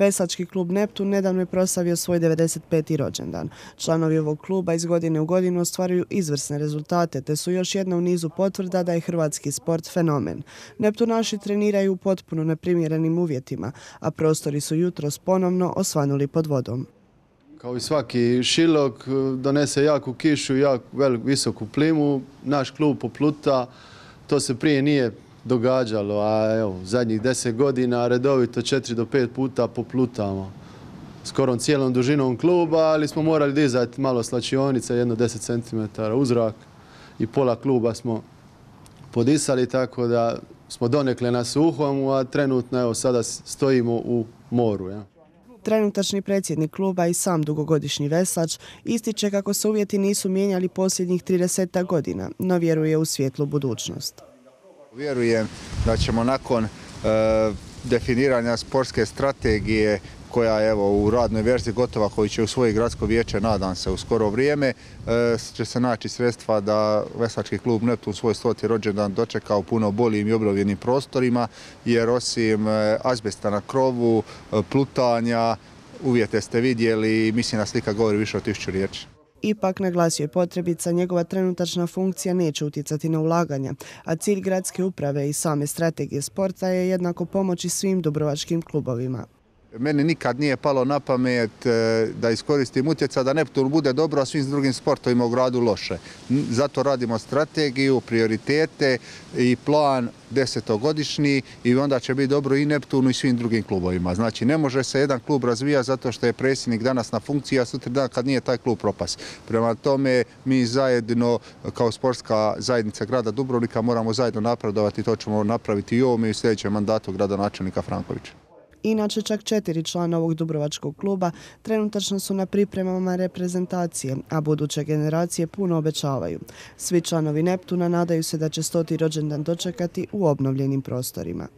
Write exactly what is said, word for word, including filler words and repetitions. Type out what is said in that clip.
Veslački klub Neptun nedavno je proslavio svoj devedeset peti rođendan. Članovi ovog kluba iz godine u godinu ostvaruju izvrsne rezultate, te su još jedna u nizu potvrda da je hrvatski sport fenomen. Neptunaši treniraju u potpuno neprimjerenim uvjetima, a prostori su jutros ponovno osvanuli pod vodom. Kao i svaki šilog, donese jaku kišu i jako visoku plimu. Naš klub popluta, to se prije nije događalo, a evo, zadnjih deset godina redovito četiri do pet puta poplutamo. Skoro cijelom dužinom kluba, ali smo morali dizati malo slačionice, jedno deset centimetara u zrak i pola kluba smo podisali, tako da smo donekle na suhom, a trenutno evo, sada stojimo u moru. Ja. Trenutačni predsjednik kluba i sam dugogodišnji veslač ističe kako se uvjeti nisu mijenjali posljednjih trideset godina, no vjeruje u svijetlu budućnost. Vjerujem da ćemo nakon e, definiranja sportske strategije koja je evo, u radnoj verziji gotova, koju će usvojiti gradsko vijeće, nadam se, u skoro vrijeme, e, će se naći sredstva da Veslački klub Neptun svoj stoti rođendan dočeka u puno boljim i obnovljenim prostorima, jer osim e, azbesta na krovu, e, plutanja, uvjete ste vidjeli i mislim da slika govori više od tisuću riječi. Ipak, naglasio je potrebica, njegova trenutačna funkcija neće utjecati na ulaganja, a cilj gradske uprave i same strategije sporta je jednako pomoći svim dubrovačkim klubovima. Meni nikad nije palo na pamet da iskoristim utjecaj da Neptun bude dobro, a svim drugim sportovima u gradu loše. Zato radimo strategiju, prioritete i plan desetogodišnji i onda će biti dobro i Neptunu i svim drugim klubovima. Znači ne može se jedan klub razvijati zato što je predsjednik danas na funkciji, a sutra dan kad nije taj klub propast. Prema tome mi zajedno kao sportska zajednica grada Dubrovnika moramo zajedno napredovati, to ćemo napraviti i ovom i u sljedećem mandatu gradonačelnika Frankovića. Inače, čak četiri člana ovog dubrovačkog kluba trenutačno su na pripremama reprezentacije, a buduće generacije puno obećavaju. Svi članovi Neptuna nadaju se da će stoti rođendan dočekati u obnovljenim prostorima.